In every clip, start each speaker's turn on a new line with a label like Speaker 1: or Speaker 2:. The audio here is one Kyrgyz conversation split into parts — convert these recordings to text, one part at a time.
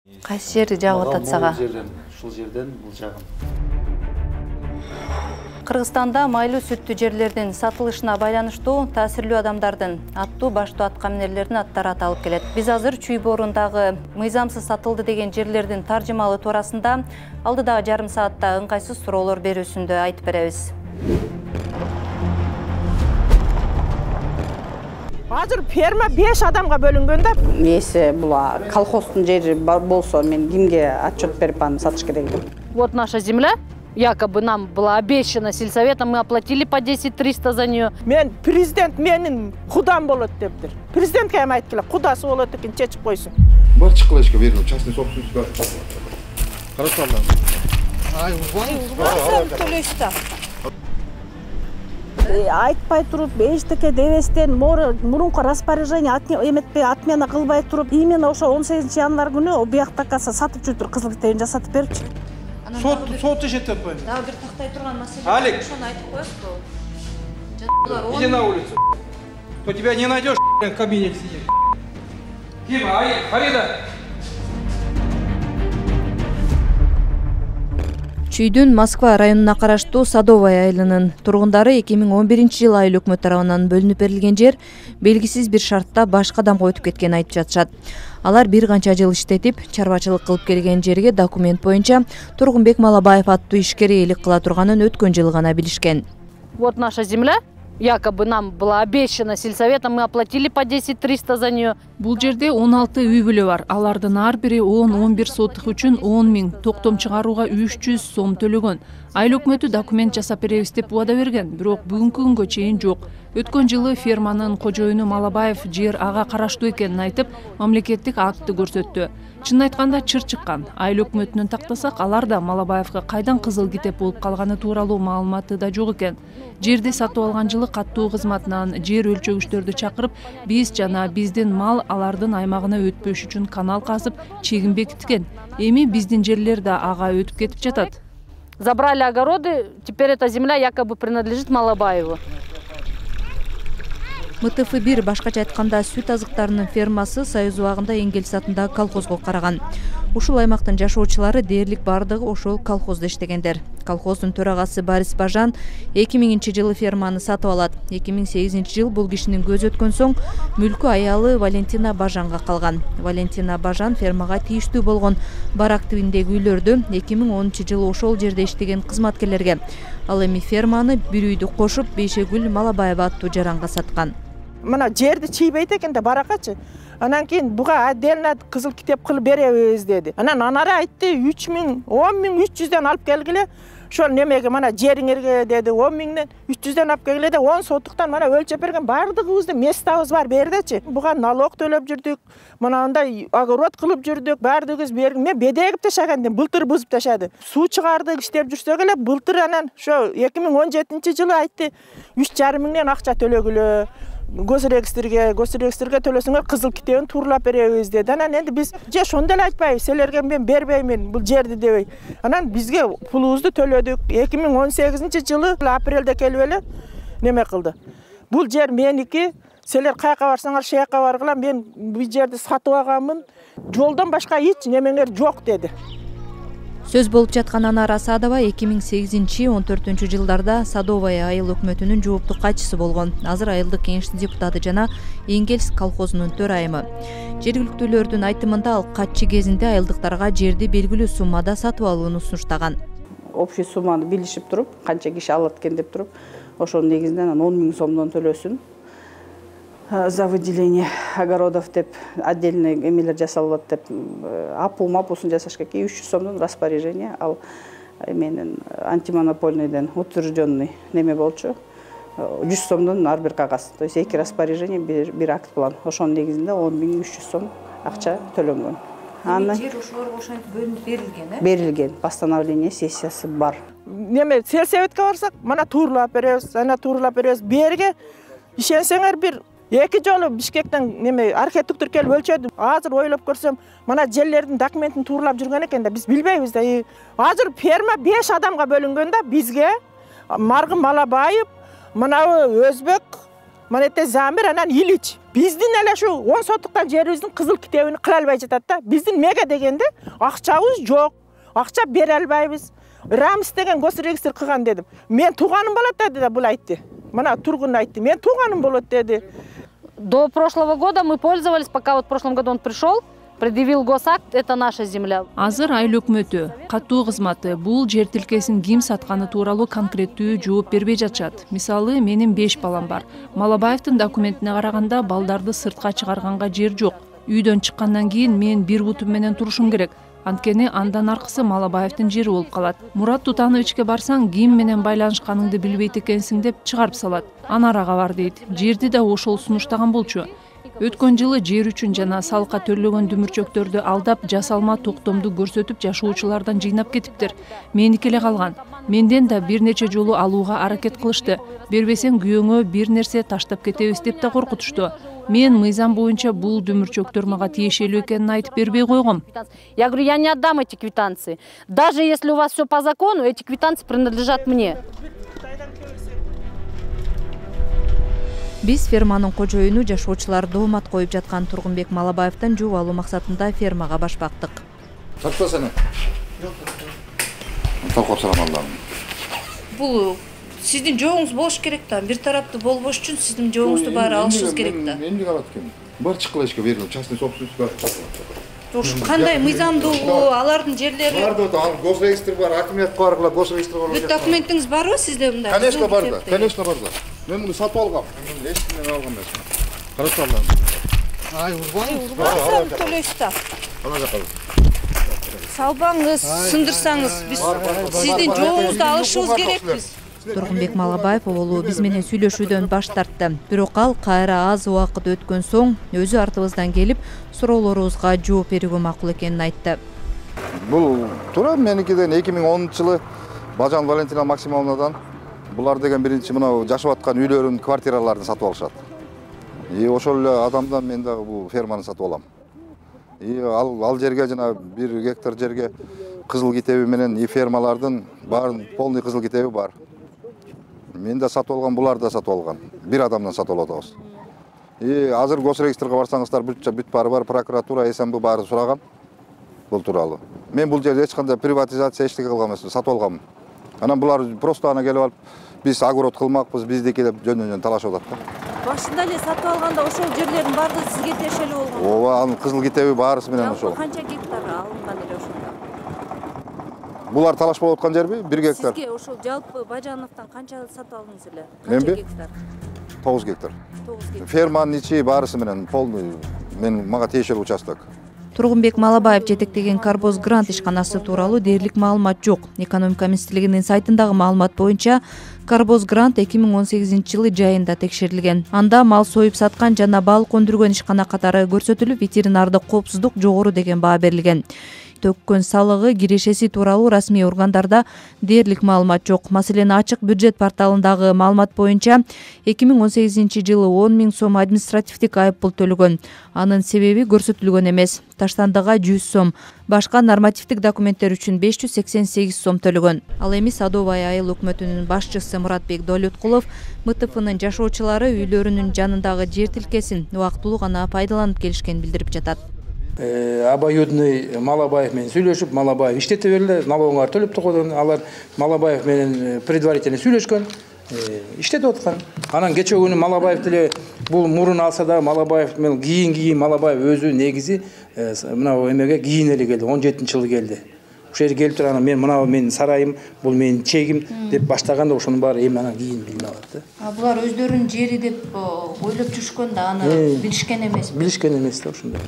Speaker 1: Кайсы жери жагып атат сага?
Speaker 2: Ушул жерден бул жагым.
Speaker 1: Кыргызстанда майлуу сүттүү жерлердин сатылышына байланыштуу таасирлүү адамдардын аттуу баштуу аткаминерлердин аттары аталып келет. Биз азыр Чүй боорундагы мыйзамсыз сатылды деген жерлердин таржымалуу туурасында алдыдагы жарым саатта ыңгайсыз суроолор берүүсүндө айтып беребиз.
Speaker 3: Азыр ферма 5 адамга бөлүнгөн да.
Speaker 4: Если була колхоздун жери болсо, мен кимге отчет берип аны сатыш керек эле?
Speaker 5: Вот наша земля. Якобы нам была обещана сельсоветом, мы оплатили по 10-300 за нее.
Speaker 3: Мен президент менин кудам болот дептир. Президентке эми айтып келе, кудасы болот экен, чечип койсун.
Speaker 6: Бар чыккылашка бердим, частный собственность бар. Хорошо,
Speaker 3: Ай, төлөйсүз да. Айтпай туруп, эчтеке дебестен, мурунку распоряжение эметпей, отмена кылбай туруп, именно ошо 18-январь күнү бияктакка сатып жүрүптүр, кызыл китебин жасатып берипчи.
Speaker 7: Сот ишетип коюм.
Speaker 1: Дагы бир тактай турган маселе.
Speaker 7: Алик,
Speaker 1: ошону айтып коесузбу?
Speaker 7: иди на улицу. То тебя не найдешь в кабинете сидеть. Кима, Фарида.
Speaker 1: Чүйдүн Москва районуна караштуу Садовая айылынын тургундары 2011-жылы айыл өкмөт тарабынан бөлүнүп берилген жер белгисиз бир шартта башка адамга өтүп кеткенин айтып жатышат. Алар бир канча жыл иштетип, чарбачылык кылып келген жерге документ боюнча Тургунбек Малабаев аттуу ишкер ээлик кыла турганын өткөн жылы гана билишкен.
Speaker 5: Вот наша земля. Якобы нам была обещана сельсоветом, мы оплатили по 10-300 за нее.
Speaker 8: Бул жерде 16 үй бүлө бар. Алардын ар бири 10-11 сотук үчүн 10 миң, токтом чыгарууга 300 сом төлөгөн. Айыл өкмөтү документ жасап беребиз деп убада берген, бирок бүгүнкү күнгө чейин жок. Өткөн жылы ферманын кожоюну Малабаев жер ага караштуу экенин айтып, мамлекеттик актты көрсөттү. Чынын айтканда чыр чыккан. Айыл өкмөтүнөн тактасак, алар да Малабаевга кайдан кызыл китеп болуп калганы тууралуу маалыматы да жок экен. Жерди сатып алган жылы каттуу кызматынан жер өлчөгүчтөрдү чакырып, биз жана биздин мал алардын аймагына өтпөш үчүн канал казып, чегин бекиткен. Эми биздин жерлер да ага өтүп кетип жатат.
Speaker 5: Забрали огороды, теперь эта земля якобы принадлежит Малабаеву.
Speaker 1: МТФ-1 башкача айтканда сүт азыктарынын фермасы Союз убагында Энгельс атындагы колхозго караган. Ушул аймактын жашоочулары дээрлик бардыгы ошол колхоздо иштегендер. Колхоздун төрагасы Борис Бажан 2000-жылы ферманы сатып алат. 2008-жыл бул кишинин көзү өткөн соң мүлкү аялы Валентина Бажанга калган. Валентина Бажан фермага тийиштүү болгон барак тибиндеги үйлөрдү 2010-жылы ошол жерде иштеген кызматкерлерге, ал эми ферманы бир үйдү кошуп Бейшегүл Малабаева аттуу жаранга саткан.
Speaker 3: Мына жерди чийбейт экен да баракачы. Анан кийин буга отдельно кызыл китеп кылып беребиз деди. Анан анары айтты 3 миң, 10 миң 300дөн алып келгиле. Ошол немеге мына жериңерге деди 10 миңден 300дөн алып келгиле де 10 соттуктан мына өлчөп берген бардыгыбыздын местабыз бар бердечи. Буга налог төлөп жүрдүк. Мына андай огород кылып жүрдүк. Бардыгыбыз берген. Мен бедегип ташагандым, былтыр бузуп ташады. Суу чыгардык, иштеп жүрсөк эле былтыр анан ошо 2017-жылы айтты 3,5 миңден акча төлөгүлө. Госрегистрге төлөсөңөр кызыл китебин тууралап беребиз деди. Анан энди биз же ошондой эле айтпайбыз, силерге мен бербеймин бул жерди дебей. Анан бизге пулубузду төлөдүк. 2018-жылы апрелде келип эле неме кылды. Бул жер меники, силер каяка барсаңар шаяка баргыла, мен бул жерди сатып алганмын. Жолдон башка эч немеңер жок деди.
Speaker 1: Сөз болуп жаткан Анара Асадова 2008-14-жылдарда Садовая айыл өкмөтүнүн жооптуу катчысы болгон. Азыр айылдык кеңештин депутаты жана Энгельс колхозунун төрайымы. Жергиликтүүлөрдүн айтымында ал катчы кезинде айылдыктарга жерди белгилүү суммада сатып алууну сунуштаган.
Speaker 4: Общий сумманы билишип туруп, канча киши алат экен деп туруп, ошонун негизинен 10 миң сомдон төлөсүн. За выделение огородов деп отдельный эмелер жасалат деп апусын жасаш керек. 300 сомдон распоряжение ал менин антимонопольныйден утвержденный неме болчу. 100 сомдон ар бир кагаз. То есть 2 распоряжение бир акт план. Ошонун негизинде 10 миң 300 сом акча төлөнгөн.
Speaker 1: Аны жер ошолорго ошентип бөлүнүп берилген,
Speaker 4: Берилген. Постановление сессиясы бар.
Speaker 3: Неме сельсоветке барсак, мына тууралап беребиз, ана тууралап беребиз. Берге ишенсеңер бир 2 жолу Бишкектен неме архитектор келип өлчөдү. Азыр ойлоп көрсөм, мына жерлердин документин тууралап жүргөн экен да, биз билбейбиз да. Азыр ферма 5 адамга бөлүнгөн да, бизге Маргым Малабаев, мына Өзбек, Mana ete Zamir anan Iliç. Биздин эле şu 10 сотуктан жерибиздин кызыл китебин кыла албай жатат да. Биздин мега дегенде акчабыз жок. Акча бере албайбыз. Рамс деген госрегистр кылган дедим. Мен тууганым болот деди да бул айтты. Мына тургун айтты. Мен тууганым болот деди.
Speaker 5: До прошлого года мы пользовались, пока вот в прошлом году он пришел, предъявил госакт, это наша земля.
Speaker 8: Азыр айыл өкмөтү, катуу кызматы бул жер тилкесин ким сатканы тууралуу конкреттүү жооп бербей жатышат. Мисалы, менин 5 балам бар. Малабаевдин документине караганда балдарды сыртка чыгарганга жер жок. Үйдөн чыккандан кийин мен бир бутум менен турушум керек. Анткени андан аркысы Малабаевдин жери болуп калат. Мурат Тутановичке барсаң, ким менен байланышканыңды билбейт экенсиң деп чыгарып салат. Анарага бар дейт. Жерди да ошол сунуштаган болчу. Өткөн жылы жер үчүн жана салыкка төлөгөн дүмүрчөктөрдү алдап, жасалма токтомду көрсөтүп жашоочулардан жыйнап кетиптир. Меники эле калган. Менден да бир нече жолу алууга аракет кылышты. Бербесең күйөөңө бир нерсе таштап кетебиз деп да коркутушту. Мен мыйзам боюнча бул дүмүрчөктөр мага тиешелүү экенин айтып бербей койгом.
Speaker 5: Я говорю, я не отдам эти квитанции. Даже если у вас все по закону, эти квитанции принадлежат мне.
Speaker 1: Биз ферманын кожоюну жашоочулар доомат коюп жаткан Тургунбек Малабаевден жооп алуу максатында фермага башпактык.
Speaker 6: Сатпасana. Толкоп салам Аллам.
Speaker 1: Бул сиздин жооңуз болуш керек да. Бир тараптуу болбош үчүн сиздин жооңузду баары алышыңыз керек да.
Speaker 6: Эмне калат экен? Бар чыккылашка берилип, частный собственность бар.
Speaker 1: Ушу кандай мыйзамдуулугу, алардын жерлери?
Speaker 6: Бар да, госрегистр бар, акимият аркылуу госрегистр бар.
Speaker 1: Бүт документиңиз барбы сизде мындай?
Speaker 6: Конечно бар да, конечно бар да. Мен муну сатып алгам. Эчкимден алган эмес. Карап алам.
Speaker 7: Ай,
Speaker 1: Урбан төлөйсүз да. Салбаңыз, сындырсаңыз, биз сиздин жооңузду алышыбыз керекпиз. Тургунбек Малабаев оболу биз менен сүйлөшүүдөн баш тартты. Бирок ал кайра аз убакыт өткөн соң өзү артыбыздан келип суроолорубузга жооп берүүгө макул экенин айтты.
Speaker 6: Бул туура меникиден 2010-жылы Бажан Валентина Максимовнадан булар деген биринчи мына жашап аткан үйлөрүн, квартираларын сатып алышат. Ошол эле адамдан мен дагы бул ферманы сатып алам. Ал жерге жана 1 гектар жерге кызыл китеби менен фермалардын баарын полный кызыл китеби бар. Мен да сатып алган, булар да сатып алган. Бир адамдан сатып алып атабыз. Азыр госрегистрге барсаңыздар бүт баары бар, прокуратура, СМБ баары сураган бул тууралуу. Мен бул жерде эч кандай приватизация эчтеке кылган эмесмин, сатып алганмын. Анан булар просто ана келип алып, биз огород кылмакпыз, биздики деп жөн-жөн талашып атат да.
Speaker 1: Башында эле сатып алганда ошол жерлердин баардыгы сизге тиешелүү болгон.
Speaker 6: Ооба, анын кызыл китеби баарысы менен ошол.
Speaker 1: Канча гектар алынган эле ошондо?
Speaker 6: Булар талаш болуп аткан жерби? 1 гектар.
Speaker 1: Сизге ошол жалпы Бажановдон канча сатып алдыңыз эле?
Speaker 6: Канча
Speaker 1: гектар?
Speaker 6: 9 гектар.
Speaker 1: 9 гектар.
Speaker 6: Ферманын ичи баарысы менен полный мага тиешелүү участок.
Speaker 1: Тургунбек Малабаев жетектеген Карбоз грант ишканасы тууралуу дээрлик маалымат жок. Экономика министрлигинин сайтындагы маалымат боюнча Карбоз грант 2018-жылы жайында текшерилген. Анда мал союп саткан жана балык өндүргөн ишкана катары көрсөтүлүп, ветеринардык коопсуздук жогору деген баа берилген. Төккөн салыгы, кирешеси тууралуу расмий органдарда дээрлик маалымат жок. Маселен, ачык бюджет порталындагы маалымат боюнча 2018-жылы 10 000 сом административдик айыппул төлөгөн. Анын себеби көрсөтүлгөн эмес. Таштандыга 100 сом, башка нормативдик документтер үчүн 588 сом төлөгөн. Ал эми Садовая айыл өкмөтүнүн башчысы Муратбек Доолеткулов МТФнын жашоочулары үйлөрүнүн жанындагы жер тилкесин убактылуу гана пайдаланып келишкенин билдирип жатат.
Speaker 7: Обоюдный Малабаев менен сүйлөшүп, Малабаев иштете берилди, налогуңар төлөп турган, алар Малабаев менен предварительно сүйлөшкөн, иштетип аткан. Анан кечээ күнү Малабаев деле бул мурун алса да Малабаев менен кийин Малабаев өзү негизи мына эмеге кийин эле келди, 17-жылы келди. Ошол жерге келип турган, мен мына менин сарайым, бул менин чегим деп баштаганда ошонун баары эми анан кийин билип алат да.
Speaker 1: Булар өздөрүнүн жери деп ойлоп жүрүшкөн да, аны билишкен эмес.
Speaker 7: Билишкен эмес да ошондой.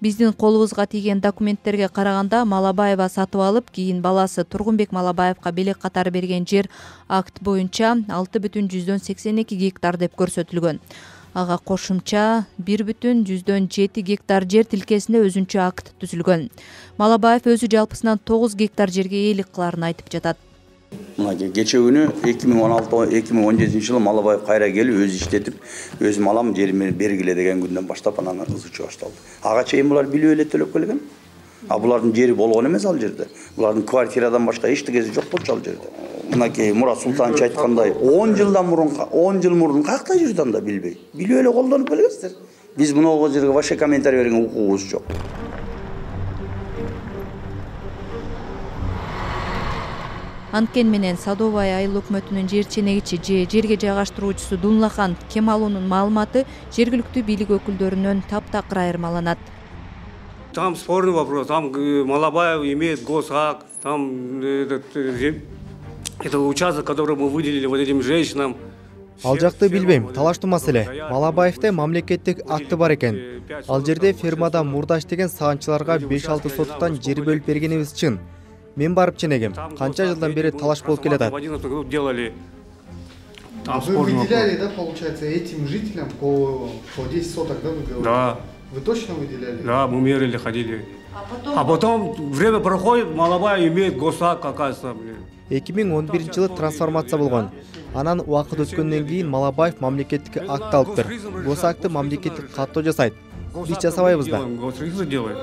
Speaker 1: Биздин колубузга тийген документтерге караганда Малабаева сатып алып, кийин баласы Тургунбек Малабаевка белек катары берген жер акт боюнча 6,82 гектар деп көрсөтүлгөн. Ага кошумча 1,7 гектар жер тилкесинде өзүнчө акт түзүлгөн. Малабаев өзү жалпысынан 9 гектар жерге ээлик кыларын айтып жатат.
Speaker 9: Мына кечээ күнү 2016-2017-жылы Малабаев кайра келип өзү иштетип, өзүм алам жерими бергиле деген күндөн баштап анан ызычуу башталды. Ага чейин булар билип эле төлөп келген. А булардын жери болгон эмес ал жерде. Булардын квартирадан башка эчтекеси жок болчу ал жерде. Мынакей Мурат Султанович айткандай 10 жылдан мурун 10 жыл мурун каякта жүрдү анда билбей. Билип эле колдонуп келесиздер. Биз мынау жерге вообще комментарий берген укугубуз жок.
Speaker 1: Анткени менен Садовая айыл өкмөтүнүн жер ченегичи же жерге жайгаштыруучусу Дунлахан Кемалунун маалыматы жергиликтүү бийлик өкүлдөрүнөн таптакыр айырмаланат.
Speaker 10: Там спорный вопрос, там Малабаев имеет госакт, там это участок, который мы выделили вот этим женщинам.
Speaker 11: Ал жакты билбейм, талаштуу маселе. Малабаевде мамлекеттик акты бар экен. Ал жерде фермада Мурдаш деген саганчыларга 5-6 сотуктан жер бөлүп бергенибиз чын. Мен барып ченегем. Канча жылдан бери талаш болуп келатат.
Speaker 10: Вы
Speaker 12: выделяли, да, получается, этим жителям по 10 соток, да, вы говорили?
Speaker 10: Да.
Speaker 12: Вы точно выделяли?
Speaker 10: Да, мы мерили, ходили. А потом время проходит, Малабаев имеет госакт, оказывается.
Speaker 11: 2011-жылы трансформация болгон. Анан убакыт өткөндөн кийин Малабаев мамлекеттик акт алыптыр. Госакты мамлекеттик каттоо жасайт. Биз жасабайбыз да.
Speaker 10: Госрегистр делает.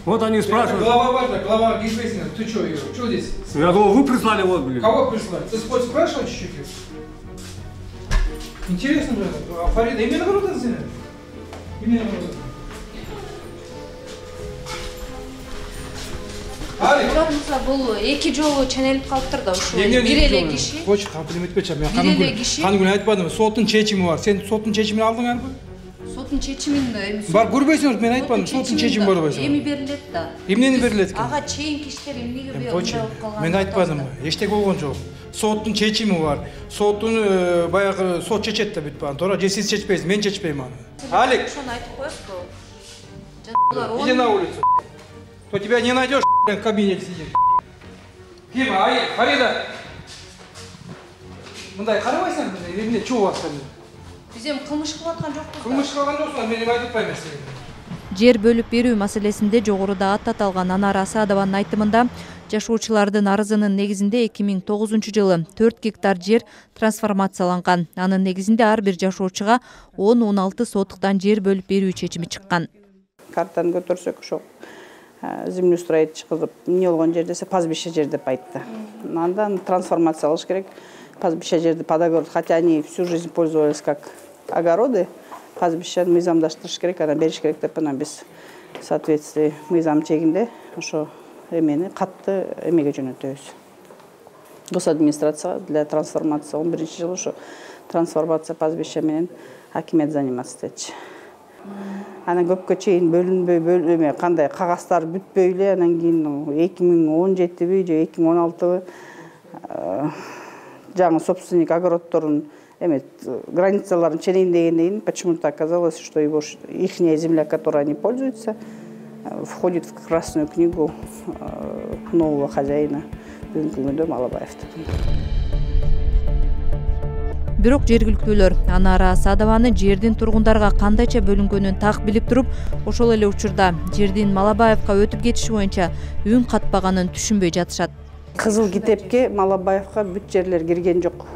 Speaker 10: Вот они спрашивают.
Speaker 7: Глава важна, глава Гейсбейсина, ты что, ее? Что здесь?
Speaker 10: Я думал, вы прислали, вот, блин.
Speaker 7: Кого прислали? Ты спрашивал чуть-чуть? Интересно же, а Фарида именно народа знает? Именно народа.
Speaker 1: Буламызга бул эки жолу ченелип калыптыр да ушул бир эле киши.
Speaker 7: Коч комплимент этпечи. Мен канун айтпадым. Соттун чечими бар. Сен соттун чечимин алдыңарбы?
Speaker 1: Соттун чечимин
Speaker 7: бар көрбөйсүңөр, мен айтпадым. Соттун чечими көрбөйсүңөр.
Speaker 1: Эми берилет да.
Speaker 7: Эмнени берилет экен?
Speaker 1: Ага чейинки иштер эмнеге болуп калган?
Speaker 7: Мен айтпадым. Эчтеке болгон жок. Соттун чечими бар. Соттун баягы сот чечет да бүт баан. Туура, же сиз чечпейсиз, мен чечпейм аны. Алик,
Speaker 1: Ошону айтып коесузбу?
Speaker 7: иди на улицу. То тебя не найдешь, в кабинете сидит. Ким, Фарида. Мындай карабайсың, эмне чуу атқан?
Speaker 1: Биз эми кылмыш кылып аткан жокпуз.
Speaker 7: Кылмыш кылган жоксуң, мен айтып атпайм сизге.
Speaker 1: Жер бөлүп берүү маселесинде жогоруда ат аталган Анара Асадованын айтымында жашоочулардын арызынын негизинде 2009-жылы 4 гектар жер трансформацияланган. Анын негизинде ар бир жашоочуга 10-16 сотуктан жер бөлүп берүү чечими чыккан.
Speaker 4: Картаны көтөрсөк ошо землеустроитель кылып эмне болгон жер десе пастбище жер деп айтты. Андан трансформация кылыш керек. Пастбище жерди под огород, хотя они всю жизнь пользовались как огороды, пастбищени мыйзамдаштырыш керек, анан бериш керек деп анан биз в соответствии мыйзам чегинде ошо эмени катты эмеге жөнөтөбүз. Госадминистрация для трансформации 11-жылы ошо трансформация пастбища менен акимет заниматься этчи. Анан көпкө чейин бөлүнбөй кандай кагаздар бүтпөй эле анан кийин 2017 же 2016 жаңы собственник огороддорун границаларын ченейиндегенден кийин почему-то оказалось, что ихняя земля, которой они пользуются, входит в Красную книгу нового хозяина бүгүнкү күндө Малабаевди.
Speaker 1: Бирок жергиликтүүлөр Анара Асадованы жердин тургундарга кандайча бөлүнгөнүн так билип туруп, ошол эле учурда жердин Малабаевка өтүп кетиши боюнча үн катпаганын түшүнбөй жатышат.
Speaker 4: Кызыл китепке Малабаевка бүт жерлер кирген жок.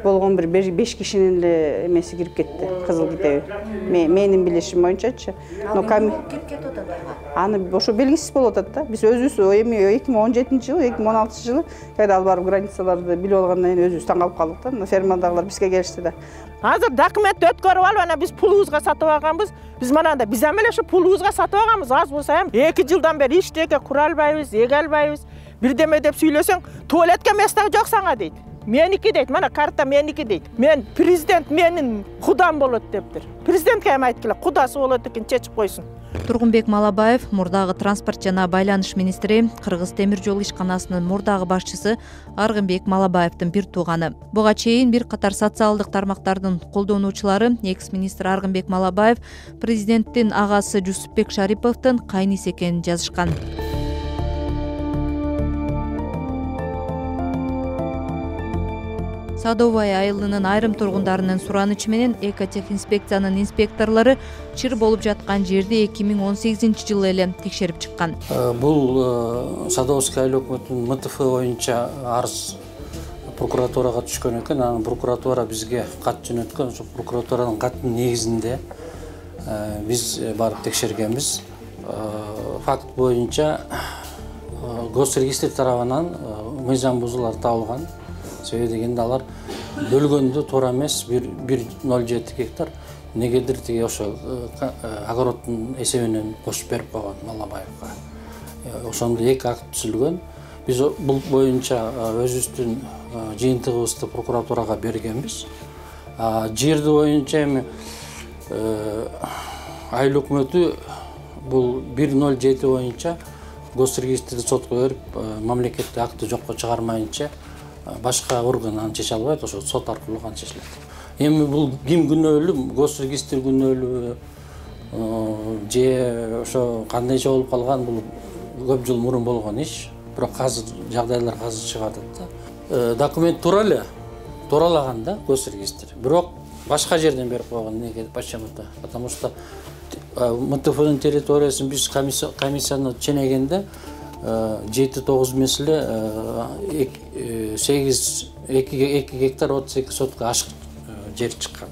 Speaker 4: Болгон бир 5 кишинин эле эмеси кирип кетти, кызыл китеби. Менин билишим боюнчачы. Но кирип кетип атат ага. Аны ошо белгисиз болуп атат да. Биз өзүбүз эми 2017-жылы, 2016-жылы кайда алып барып границаларды билип алгандан кийин өзүбүз таң калып калдык да. Фермадагылар бизге келишти да.
Speaker 3: Азыр документти өткөрүп алып, анан биз пулубузга сатып алганбыз. Биз мананда биз эми эле ошо пулубузга сатып алганбыз. Аз болсо эми 2 жылдан бери иштеке кура албайбыз, эге албайбыз. Бирдеме деп сүйлөсөң, туалетке место жок сага дейт. Меники дейт, мана карта меники дейт. Мен президент менин кудам болот дептир. Президентке эми айткыла, кудасы болот экен, чечип койсун.
Speaker 1: Тургунбек Малабаев, мурдагы транспорт жана байланыш министри, Кыргыз темир жол ишканасынын мурдагы башчысы Аргынбек Малабаевдин бир тууганы. Буга чейин бир катар социалдык тармактардын колдонуучулары экс-министр Аргынбек Малабаев президенттин агасы Жусупбек Шариповдун кайниси экенин жазышкан. Садовая айылынын айрым тургундарынын суранычы менен экотехинспекциянын инспекторлору чыр болуп жаткан жерди 2018-жылы эле текшерип чыккан.
Speaker 13: Бул Садовский айыл өкмөтүнүн МТФ боюнча арыз прокуратурага түшкөн экен. Анан прокуратура бизге кат жөнөткөн. Ошо прокуратуранын каттын негизинде биз барып текшергенбиз. Факт боюнча госрегистр тарабынан мыйзам бузуулар табылган. Себеби дегенде алар бөлгөндө туура эмес 1,07 гектар негедир тиги ошо огороддун эсебинен кошуп берип койгон Малабаевга. Ошондо 2 акт түзүлгөн. Биз бул боюнча өзүбүздүн жыйынтыгыбызды прокуратурага бергенбиз. Жерди боюнча эми айыл өкмөтү бул 1,07 боюнча госрегистрди сотко берип, мамлекеттик акты жокко чыгармайынча башка орган аны чече албайт, ошо сот аркылуу гана чечилет. Эми бул ким күнөөлүү, госрегистр күнөөлүү же ошо кандайча болуп калган, бул көп жыл мурун болгон иш. Бирок азыр жагдайлар чыгып атат да. Документ туура эле, тууралаган да госрегистр. Бирок башка жерден берип койгон. Неге? Почему-то? Потому что МТФнын территориясын биз комиссияны ченегенде 7-9 меселе 2 гектар 32 сотка ашык жер чыккан.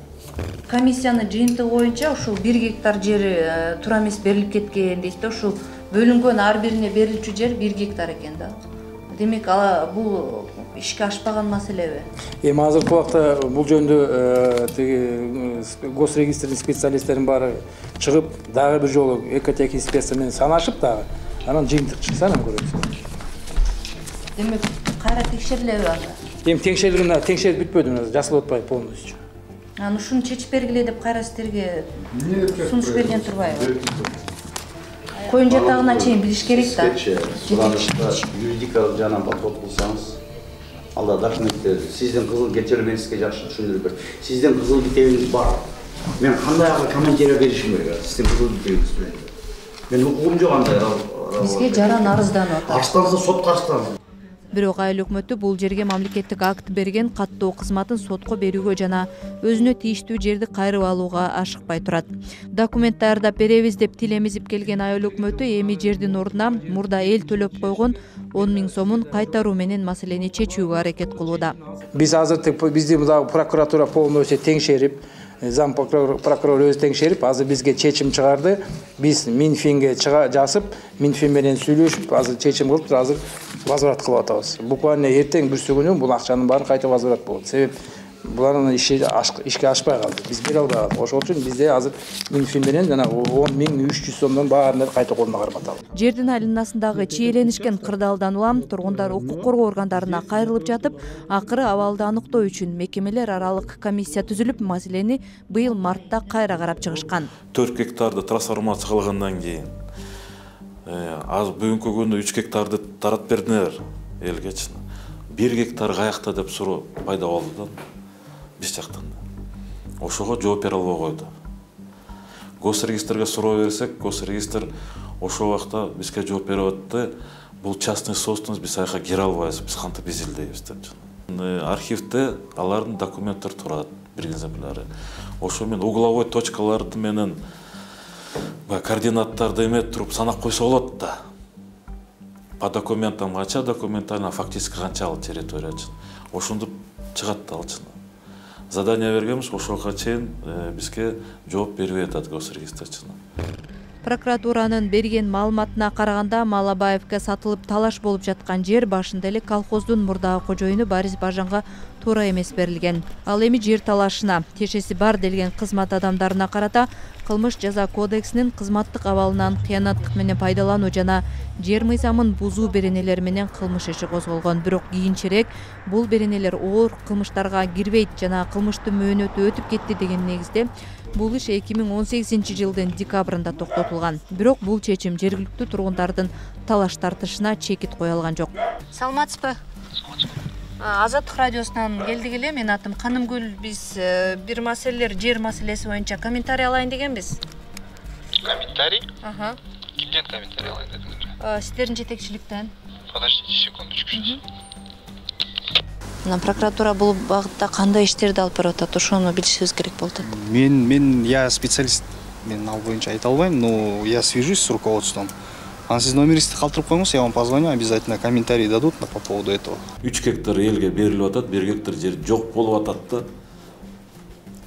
Speaker 1: Комиссиянын жыйынтыгы боюнча ушул 1 гектар жери туура эмес берилип кеткен дейт да. Ушул бөлүнгөн ар бирине берилчү жер 1 гектар экен да. Демек бул ишке ашпаган маселеби?
Speaker 7: Эми азыркы убакта бул жөнүндө тиги госрегистрдин специалисттеринин баары чыгып, дагы бир жолу экотех инспекция менен санашып дагы, анан жыйынтык чыкса анан көрөбүз.
Speaker 1: Демек кайра текшерилеби анда?
Speaker 7: Эми текшерип бүтпөдү, жасалып атпайбы полностью.
Speaker 1: Анан ушуну чечип бергиле деп кайра сиздерге сунуш берген турбайбы? Коюн жатагына чейин билиш керек да.
Speaker 9: Юридикалык жагынан подход кылсаңыз, алда документтер, сиздин кызыл китебиңизди мен сизге жакшы түшүндүрүп бердим. Сиздин кызыл китебиңиз бар. Мен кандай комментарий беришим керек? Сиздин кызыл китебиңиз менен. Мен укугум жок андай.
Speaker 1: Бизге жаран арызданып атат.
Speaker 9: Арызданса сотко арызданыңыз.
Speaker 1: Бирок айыл өкмөтү бул жерге мамлекеттик акт берген каттоо кызматын сотко берүүгө жана өзүнө тийиштүү жерди кайрып алууга ашыкпай турат. Документ даярдап беребиз деп тил эмизип келген айыл өкмөтү эми жердин ордуна мурда эл төлөп койгон 10 000 сомун кайтаруу менен маселени чечүүгө аракет кылууда.
Speaker 7: Биз азыр бизди прокуратура полностью теңшерип, зам прокурор өзү теңшерип, азыр бизге чечим чыгарды. Биз Минфинге жазып, Минфин менен сүйлөшүп, азыр чечим кылып, азыр возврат кылып атабыз. Буквально эртең бүрсү күнү бул акчанын баары кайта возврат болот. Себеп булардын ишке ашпай калды. Биз бере албай. Ошол үчүн бизде азыр Минфин менен жана 10 300 сомдон баарын кайта колуна карматалы.
Speaker 1: Жердин айланасындагы чиеленишкен кырдаалдан улам тургундар укук коргоо органдарына кайрылып жатып, акыры абалды аныктоо үчүн мекемелер аралык комиссия түзүлүп, маселени быйыл мартта кайра карап чыгышкан.
Speaker 14: 4 гектарды трансформация кылгандан кийин азыр бүгүнкү күндө 3 гектарды таратып бердилер элгечи. 1 гектар каякта деп суроо пайда болду да биз жактан. Ошого жооп бере албай койду. Госрегистрге суроо берсек, госрегистр ошол убакта бизге жооп берип атты. Бул частный собственность, биз аяка кире албайбыз, биз кантип изилдейбиз деп. Архивде алардын документтери турат, бир экземпляры. Ошо мен угловой точкаларды менен координаттарды эметип туруп санап койсо болот да. По документам канча, документально фактически канчалык территория. Ошондо чыгат да алчын. Задание бергенбиз, ошого чейин бизге жооп бербей атат госрегистрчы.
Speaker 1: Прокуратуранын берген маалыматына караганда, Малабаевге сатылып талаш болуп жаткан жер башында эле колхоздун мурдагы кожоюну Борис Бажанга туура эмес берилген. Ал эми жер талашына тиешеси бар делген кызмат адамдарына карата кылмыш жаза кодексинин кызматтык абалынан кыянаттык менен пайдалануу жана жер мыйзамын бузуу беренелери менен кылмыш иши козголгон. Бирок кийинчерээк бул беренелер оор кылмыштарга кирбейт жана кылмыштын мөөнөтү өтүп кетти деген негизде бул иш 2018-жылдын декабрында токтотулган. Бирок бул чечим жергиликтүү тургундардын талаш тартышына чекит кое алган жок. Саламатсызбы? Азаттык радиосунан келдик эле. Менин атым Канымгүл. Биз бир маселелер жер маселеси боюнча комментарий алайын дегенбиз.
Speaker 15: Комментарий? Кимден комментарий алайын дедиңер?
Speaker 1: Сиздердин жетекчиликтен.
Speaker 15: Подождите секундочку.
Speaker 1: Прокуратура бул багытта кандай иштерди алып барып атат? Ошону билишибиз керек болуп атат.
Speaker 12: Я специалист. Мен ал боюнча айта албайм, но я свяжусь с руководством. Анан сиз номериңизди калтырып коюңуз, я вам позвоню, обязательно комментарий дадут по поводу этого.
Speaker 14: 3 гектар элге берилип атат, 1 гектар жер жок болуп атат да.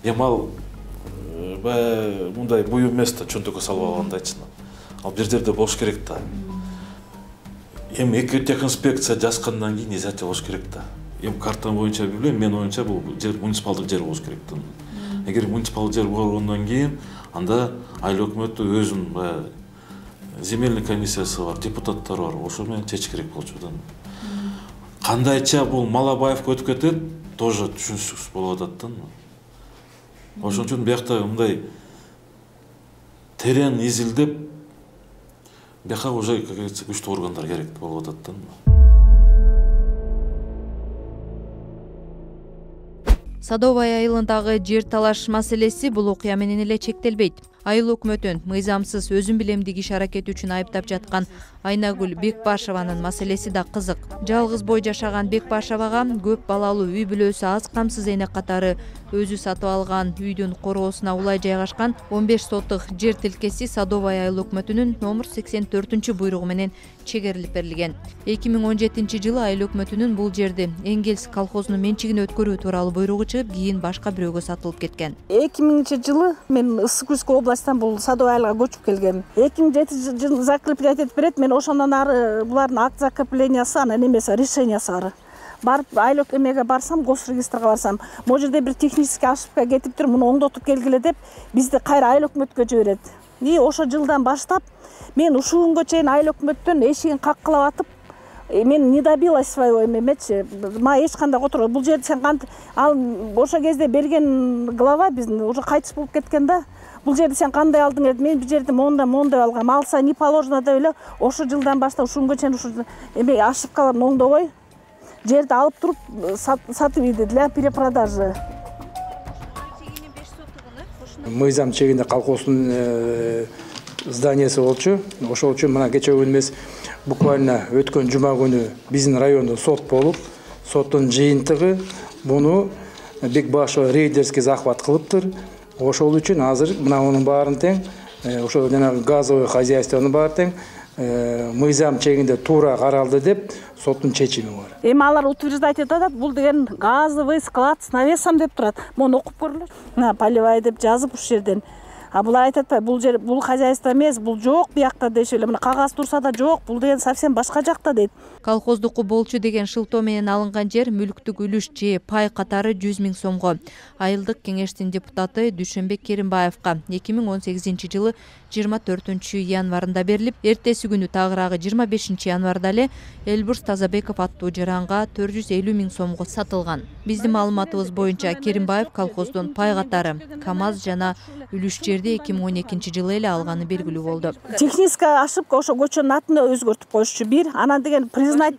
Speaker 14: Эми ал мындай буюм эмес да, чөнтөккө салып алгандайчы. Ал бир жерде болуш керек да. Эми экотехинспекция жазгандан кийин изяча болуш керек да. Эми карта боюнча билбейм, мен оюмча бул жер муниципалдык жер болуш керек да. Эгер муниципалдык жер болгондон кийин анда айыл өкмөтү өзүнүн земельный комиссиясы бар, депутаттар бар, ошо менен чечиш керек болчу да. Кандайча бул Малабаевге өтүп кетет, тоже түшүнүксүз болуп атат да. Ошон үчүн биякта мындай терең изилдеп, бияка уже күчтүү органдар керек болуп атат да.
Speaker 1: Садовая айылындагы жер талаш маселеси бул окуя менен эле чектелбейт. Айыл өкмөтүн мыйзамсыз өзүн билемдик иш аракети үчүн айыптап жаткан Айнагүл Бекбашеванын маселеси да кызык. Жалгыз бой жашаган Бекбашевага көп балалуу үй бүлөсү аз камсыз эне катары өзү сатып алган үйдүн короосуна улай жайгашкан 15 соттук жер тилкеси Садовая айыл өкмөтүнүн номер 84 буйругу менен чегерилип берилген. 2017 жылы айыл өкмөтүнүн бул жерди Энгельс колхозунун менчигине өткөрүү тууралуу буйругу чыгып, кийин башка бирөөгө сатылып кеткен.
Speaker 4: 2000 жылы мен Ысык Күзгө областтан бул Садовая айылга көчүп келгем. 2007 жылы закреплять этип берет. Мен ошондон ары булардын акт закреплениясы, анан эмеси решениясы ары. Барып айыл өкмөтүнө барсам, госрегистрга барсам, могу жерде бир технический ошибка кетиптир, муну оңдотуп келгиле деп бизди кайра айыл өкмөткө жиберет. И ошо жылдан баштап мен ушул күнгө чейин айыл өкмөттөн эшигин каккылап атып, мен не добилась своего эметчи. Мага эч кандай отур. Бул жерди сен кантип ал ошо кезде берген глава биздин уже кайтыш болуп кеткен да. Бул жерди сен кандай алдың деп, мен бул жерди мондай алгам. Алса не положено деп эле ошо жылдан баштап ушул күнгө чейин ушу эме ошибкаларын оңдобой жерди алып туруп сатып ийди для перепродажи.
Speaker 7: Мыйзам чегинде колхоздун зданиясы болчу. Ошол үчүн мына кечээ күнү эмес, буквально өткөн жума күнү биздин райондо сот болуп, соттун жыйынтыгы буну Бекбашева рейдерский захват кылыптыр. Ошол үчүн азыр мына мунун баарын тең, ошо жанагы газовый хозяйствонун баары тең мыйзам чегинде туура каралды деп соттун чечими бар.
Speaker 4: Эми алар утверждать этип атат, бул деген газовый склад с навесом деп турат. Муну окуп көрүлөр. Мына полевая деп жазып ушул жерден. А булар айтып атпайбы, бул жер бул хозяйство эмес, бул жок биякта деши эле. Мына кагаз турса да жок, бул деген совсем башка жакта дейт.
Speaker 1: Колхоздуку болчу деген шылтоо менен алынган жер мүлктүк үлүш же пай катары 100 000 сомго. Айылдык кеңештин депутаты Дүйшөнбек Керимбаевка 2018 жылы 24 январында берилип, эртеси күнү тагыраагы 25 январда эле Элбурс Тазабеков аттуу жаранга 450 000 сомго сатылган. Биздин маалыматыбыз боюнча Керимбаев колхоздун пай катары КАМАЗ жана үлүш жерди 2012 жылы эле алганы белгилүү болду.
Speaker 4: Техническая ошибка, ошо көчөнүн атын өзгөртүп коюшчу бир. Анан деген признать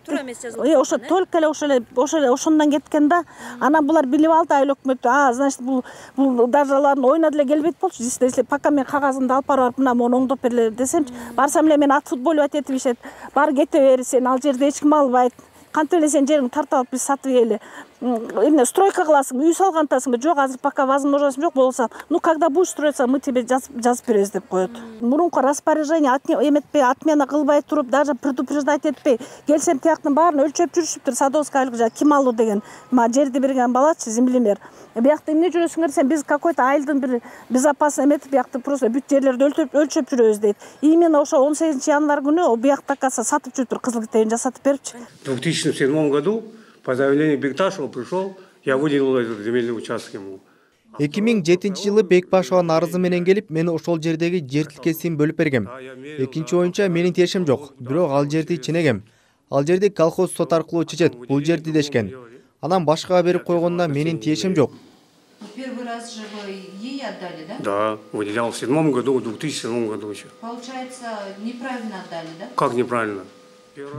Speaker 4: ошо только эле ошондон кеткен да. Анан булар билип алды айыл өкмөтү. Значит, бул даже алардын оюна деле келбейт болчу. Если пока мен кагазымды алып барып мына муну оңдоп берле десемчи, барсам эле мен отфутболивать этип ишет. Бар кете бер, сен ал жерде эч ким албайт. Кантип эле сен жериңди тартып алып биз сатып ийели. Эмне стройка кыласың, үй салгантасың? Жок, азыр пока возможность жок болсо, ну когда будешь строиться, мы тебе жазып беребиз деп коет. Мурунку распоряжение эметпей, отмена кылбай туруп, даже предупреждать этпей, келсем тияктын баарын өлчөп жүрүшүптүр. Садовская айылга ким алуу деген, ма жерди берген балачы, землемер. Биякта эмне жүрөсүңөр десем, биз какой-то айылдын бир безопасный эметип, биякта просто бүт жерлерди өлчөп жүрөбүз дейт. Именно ошо 18 январь күнү биякта каса сатып жүрүптүр, кызыл китебин жасатып берипчи.
Speaker 10: В 2007 году по заявлению Бекташева пришел, я выделил этот земельный участок ему.
Speaker 11: 2007 жылы Бекбашеванын арызы менен келип, мен ошол жердеги жер тилкесин бөлүп бергем. Экинчи оюнча менин тиешим жок, бирок ал жерди ченегем. Ал жерди колхоз сот аркылуу чечет, бул жерди дешкен. Анан башкага берип койгонуна менин тиешим жок.
Speaker 1: Первый раз же вы ей отдали, да?
Speaker 10: Да, выделял в 2007 году, в 2007 году еще.
Speaker 1: Получается, неправильно отдали, да?
Speaker 10: Как неправильно?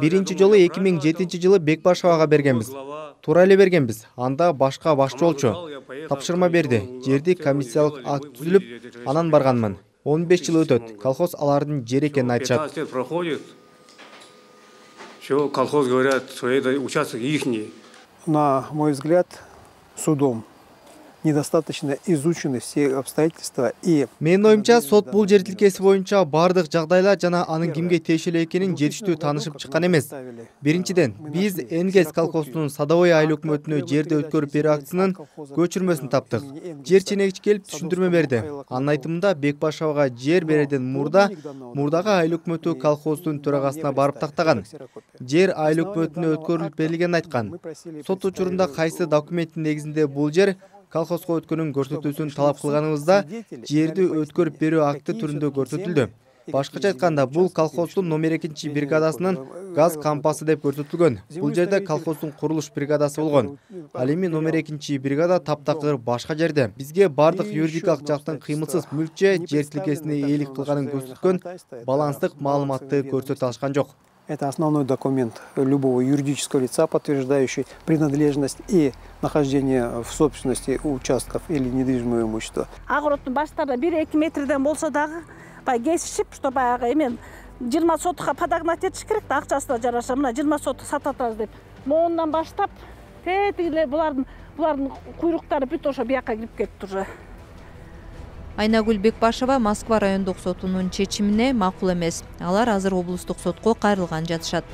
Speaker 11: Биринчи жолу 2007 жылы Бекбашевага бергенбиз. Туура эле бергенбиз. Анда башка башчы болчу. Тапшырма берди. Жерди комиссиялык акт түзүлүп, анан барганмын. 15 жыл өтөт. Колхоз алардын жери экенин айтышат.
Speaker 10: 15 лет проходит. Все, колхоз говорят, что это участок ихний.
Speaker 16: На мой взгляд, судом недостаточно изучены все обстоятельства и
Speaker 11: Менин оюмча сот бул жер тилкеси боюнча бардык жагдайлар жана анын кимге тиешелүү экенин жетиштүү таанышып чыккан эмес. Биринчиден, биз Энгельс колхозунун садовой айыл өкмөтүнө жерди өткөрүп берүү актысынын көчүрмөсүн таптык. Жер ченегичи келип түшүндүрмө берди. Анын айтымында Бекбашевага жер берерден мурдагы айыл өкмөтү колхоздун төрагасына барып тактаган. Жер айыл өкмөтүнө өткөрүлүп берилгенин айткан. Сот учурунда кайсы документтин негизинде бул жер колхозго өткөнүн көрсөтүүсүн талап кылганыбызда жерди өткөрүп берүү акты түрүндө көрсөтүлдү. Башкача айтканда, бул колхоздун номер 2 бригадасынын газ кампасы деп көрсөтүлгөн. Бул жерде колхоздун курулуш бригадасы болгон. Ал эми номер 2 бригада таптакыр башка жерде. Бизге бардык юридикалык жактын кыймылсыз мүлкчө жер тилкесине ээлик кылганын көрсөткөн баланстык маалыматты көрсөтө алышкан жок.
Speaker 16: Это основной документ любого юридического лица, подтверждающий принадлежность и нахождение в собственности участков или недвижимого имущества.
Speaker 17: Огородтун баштарында 1-2 метрден болсо дагы кесишип, что баягы эмен 20 сотукка подогнать этиш керек да, акчасына жараша мына 20 сотук сатып атабыз деп. Моундан баштап тетигилер булардын куйруктары бүт ошо бияка кирип кетти уже.
Speaker 1: Айнагүл Бекбашева Москва райондук сотунун чечимине макул эмес. Алар азыр облустук сотко кайрылган жатышат.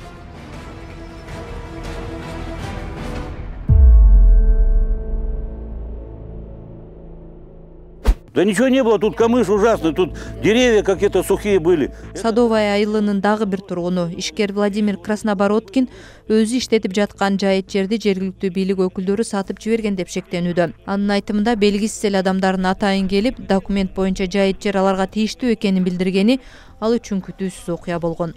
Speaker 18: Да ничего не было, тут камыш ужасный, тут деревья какие-то сухие были.
Speaker 1: Садовая айылынын дагы бир тургуну ишкер Владимир Краснобородкин өзү иштетип жаткан жайыт жерди жергиликтүү бийлик өкүлдөрү сатып жиберген деп шектенүүдө. Анын айтымында белгисиз эле адамдардын атайын келип, документ боюнча жайыт жер аларга тийиштүү экенин билдиргени ал үчүн күтүүсүз окуя болгон.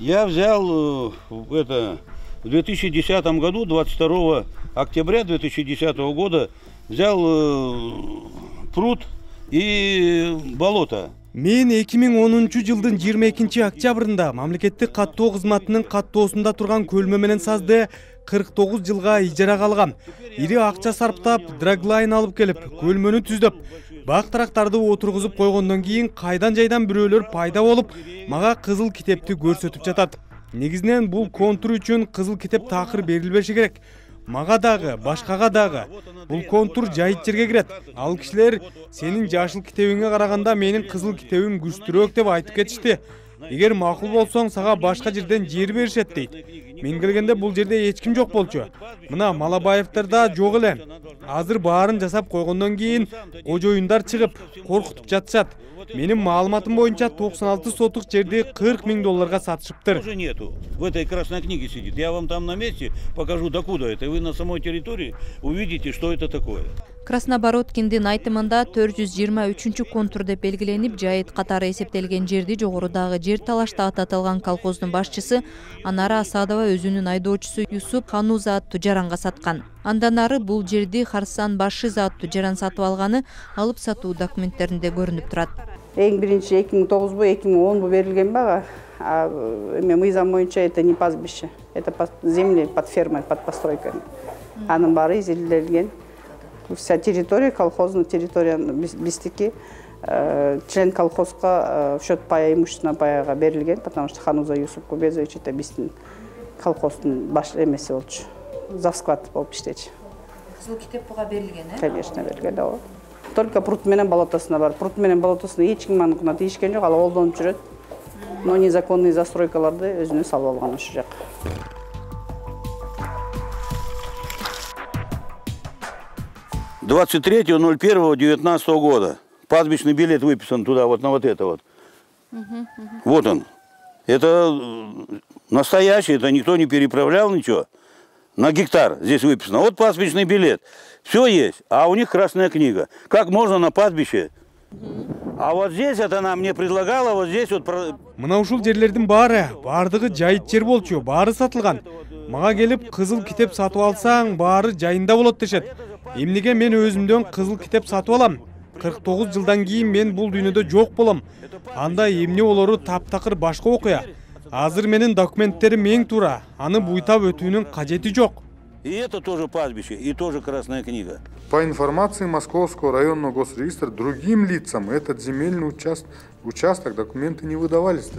Speaker 18: Я взял это в 2010 году, 22 октября 2010 года, взял пруд и болото.
Speaker 11: Мен 2010-жылдын 22 октябрында мамлекеттик каттоо кызматынын каттоосунда турган көлмө менен сазды 49 жылга ижарага алгам. Ири акча сарптап, драглайн алып келип, көлмөнү түздөп, бак-тарактарды отургузуп койгондон кийин кайдан жайдан бирөөлөр пайда болуп, мага кызыл китепти көрсөтүп жатат. Негизинен бул контур үчүн кызыл китеп такыр берилбеши керек. Мага дагы, башкага дагы. Бул контур жайыт жерге кирет. Ал кишилер сенин жашыл китебиңе караганда менин кызыл китебим күчтүүрөөк деп айтып кетишти. Эгер макул болсоң, сага башка жерден жер беришет дейт. Мен келгенде бул жерде эч ким жок болчу. Мына Малабаевдар да жок эле. Азыр баарын жасап койгондон кийин кожоюндар чыгып, коркутуп жатышат. Менин маалыматым боюнча 96 сотук жерди $40,000 сатышыптыр.
Speaker 18: Уже нету. В этой красной книге сидит. Я вам там на месте покажу, докуда это. Вы на самой территории увидите, что это такое.
Speaker 1: Краснобородкиндин айтымында 423 контур деп белгиленип, жайыт катары эсептелген жерди жогорудагы жер талашта ататылган колхоздун башчысы Анара Асадова өзүнүн айдоочусу Юсуп Хануза аттуу жаранга саткан. Андан ары бул жерди Харсан Башиза аттуу жаран сатып алганы алып сатуу документтеринде көрүнүп турат.
Speaker 4: Эң биринчи 2009 2010 берилген бага. Эми мыйзам боюнча это не пастбище, это земли под фермой, под постройками. Анын баары изилделген. Вся территория, колхозная территория биздики, член колхозга в счет пая имущественного паяга берилген, потому что Хануза Юсуп Кубезович это биздин колхоздун баш эмеси болчу. Завсклад болуп иштечи.
Speaker 1: Кызыл китеп буга берилген,
Speaker 4: Конечно, берилген, да. Только пруд менен болотосуна бар. Пруд менен болотосуна эч ким аныкына тийишкен жок, ал колдонуп жүрөт. Но незаконный застройкаларды өзүнө салып алган ошол жак.
Speaker 18: — 23.01.19 года. Пастбищный билет выписан туда, вот на вот это вот. Вот он. Это настоящий, это никто не переправлял ничего. На гектар здесь выписано. Вот пастбищный билет. Все есть. А у них красная книга. Как можно на пастбище? А вот здесь это она мне предлагала, вот здесь вот...
Speaker 11: Мына ушул жерлердин баардыгы жайыт жер болчу, баары сатылган. Мага келип кызыл китеп сатып алсаң, баары жайында болот дешет. Эмнеге мен өзүмдөн кызыл китеп сатып алам? 49 жылдан кийин мен бул дүйнөдө жок болом. Анда эмне болору таптакыр башка окуя. Азыр менин документтерим эң туура. Аны буйтап өтүүнүн кажети жок.
Speaker 18: И это тоже пастбище, и тоже красная книга.
Speaker 19: По информации Московского районного госрегистра, другим лицам этот земельный участок документы не выдавались.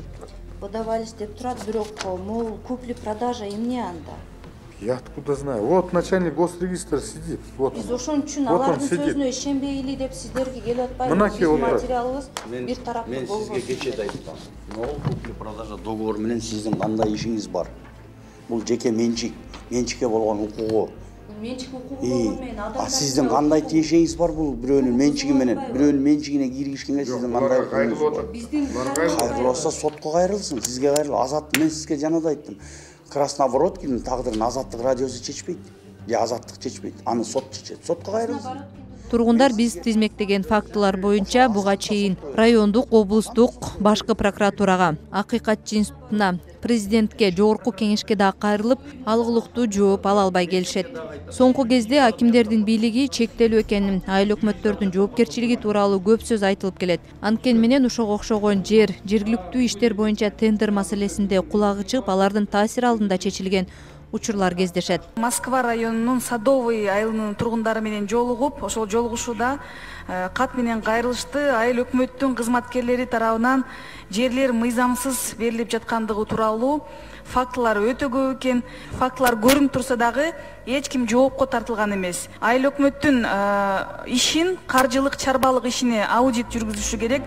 Speaker 20: Выдавались деп турат, бирок могул купли-продажа эмне анда?
Speaker 19: Я откуда знаю? Вот начальник госрегистра сидит. Вот
Speaker 1: Биз ошон үчүн
Speaker 19: вот он
Speaker 1: алардын
Speaker 19: сидит.
Speaker 1: сөзүнө ишенбейли деп сиздерге келип атпайбыз.
Speaker 19: Мынакей отурат.
Speaker 1: Материалыбыз бир тараптуу
Speaker 9: Мен
Speaker 1: болбосун.
Speaker 9: сизге кече да айттым. Но купли-продажа договору менен сиздин кандай ишиңиз бар? Бул жеке менчик, менчикке болгон укугу.
Speaker 1: Менчик укугу болгон менен адамдар.
Speaker 9: Сиздин кандай тиешеңиз бар бул бирөөнүн менчиги менен? Бирөөнүн менчигине киргишкенге сиздин кандай укугуңуз бар? Кайрылса сотко кайрылсын, сизге кайрыл. Азат мен сизге жана да айттым. Красновородкинин тагдырын Азаттык радиосу чечпейт. Же Азаттык чечпейт. Аны сот чечет. Сотко кайрылсын.
Speaker 1: Тургундар биз тизмектеген фактылар боюнча буга чейин райондук, облустук, башкы прокуратурага, Акыйкатчы институтуна, президентке, жогорку кеңешке да кайрылып, алгылыктуу жооп ала албай келишет. Соңку кезде акимдердин бийлиги чектелүү экенин, айыл өкмөттөрдүн жоопкерчилиги тууралуу көп сөз айтылып келет. Анткени менен ошого окшогон жергиликтүү иштер боюнча тендер маселесинде кулагы чыгып, алардын таасири алдында чечилген учурлар кездешет.
Speaker 20: Москва районунун Садовый айылынын тургундары менен жолугуп, ошол жолугушууда кат менен кайрылышты. Айыл өкмөттүн кызматкерлери тарабынан жерлер мыйзамсыз берилип жаткандыгы тууралуу фактылар өтө көп экен. Фактылар көрүнүп турса дагы эч ким жоопко тартылган эмес. Айыл өкмөттүн ишин, каржылык, чарбалык ишине аудит жүргүзүшү керек.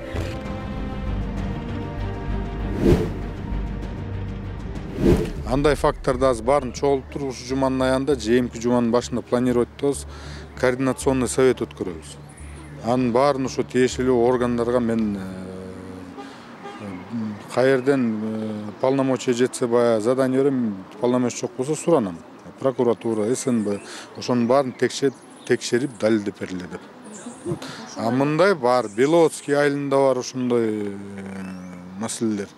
Speaker 19: Андай факттарды аз баарын чогултуп ушу жуманын аягында, жээмки жуманын башында планировать этебиз, координационный совет өткөрөбүз. Анын баарын ошо тиешелүү органдарга мен каерден полномочия жетсе баягы задание берем, полномочия жок болсо суранам. Прокуратура, СНБ ошонун баарын текшерип далилдеп бергиле деп. А мындай бар, Беловодский айылында бар ошондой маселелер.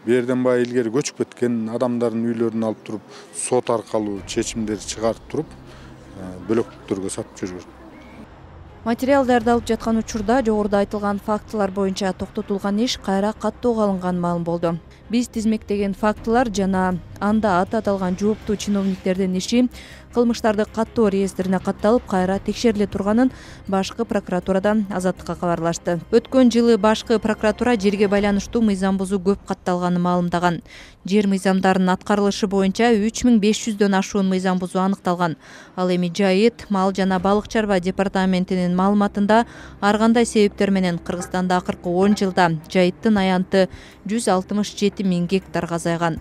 Speaker 19: Берден баягы илгери көчүп кеткен адамдардын үйлөрүн алып туруп, сот аркылуу чечимдер чыгарып туруп, бөлөктөргө сатып жүрүшөт.
Speaker 1: Материалдарды алып жаткан учурда жогоруда айтылган фактылар боюнча токтотулган иш кайра каттоого алынган маалым болду. Биз тизмектеген фактылар жана анда аты аталган жооптуу чиновниктердин иши кылмыштарды каттоо реестрине катталып, кайра текшериле турганын башкы прокуратурадан Азаттыкка кабарлашты. Өткөн жылы башкы прокуратура жерге байланыштуу мыйзам бузуу көп катталганын маалымдаган. Жер мыйзамдарынын аткарылышы боюнча 3500дөн ашуун мыйзам бузуу аныкталган. Ал эми Жайыт, мал жана балык чарба департаментинин маалыматында ар кандай себептер менен Кыргызстанда акыркы 10 жылда Жайыттын аянты 167 000 гектарга азайган.